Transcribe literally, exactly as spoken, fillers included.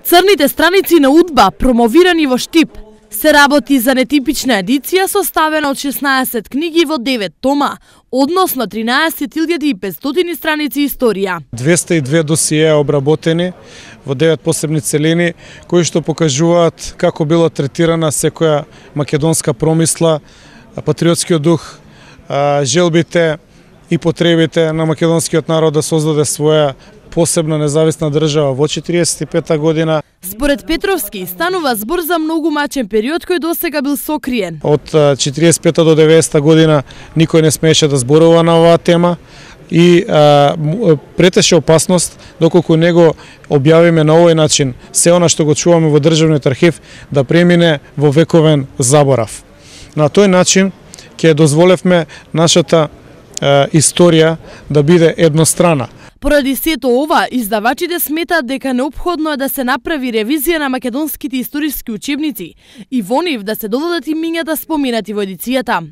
Црните страници на УДБА, промовирани во Штип, се работи за нетипична едиција составена од шеснаесет книги во девет тома, односно тринаесет илјади и петстотини страници историја. двесте и две досиеа обработени во девет посебни целини, кои што покажуваат како било третирана секоја македонска промисла, патриотскиот дух, желбите и потребите на македонскиот народ да создаде своја посебна независна држава во четириесет и пета година. Според Петровски, станува збор за многу мачен период кој досега бил сокриен. Од четириесет и пета до деветдесета година никој не смееше да зборува на оваа тема и а, претеше опасност доколку него објавиме на овој начин се она што го чуваме во државниот архив да премине во вековен заборав. На тој начин ќе дозволевме нашата а, историја да биде еднострана. Поради сето ова, издавачите сметаат дека неопходно е да се направи ревизија на македонските историски учебници и во нив да се додадат имињата споменати во едицијата.